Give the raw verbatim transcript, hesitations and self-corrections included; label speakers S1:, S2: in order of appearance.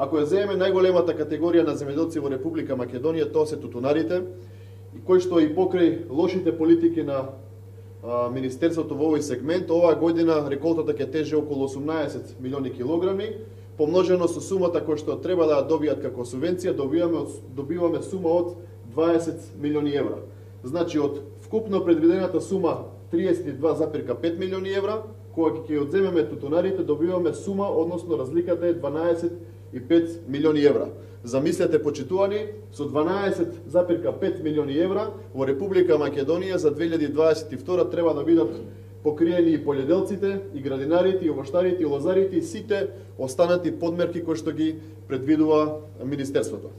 S1: Ако ја земеме најголемата категорија на земјоделци во Република Македонија, тоа се тутунарите, и кои што и покрај лошите политики на а, Министерството во овој сегмент, оваа година реколтата ќе тежи околу осумнаесет милиони килограми, помножено со сумата која што треба да добијат како субвенција, добиваме, добиваме сума од дваесет милиони евра. Значи, од вкупно предвидената сума триесет и два запирка пет милиони евра, кога ќе одземеме тутунарите, добиваме сума, односно разликата е дванаесет и пет милиони евра. Замислете, почитувани, со дванаесет запирка пет милиони евра во Република Македонија за две илјади дваесет и втора треба да бидат покриени и полјоделците, и градинарите, и овоштарите, и лозарите, и сите останати подмерки кои што ги предвидува Министерството.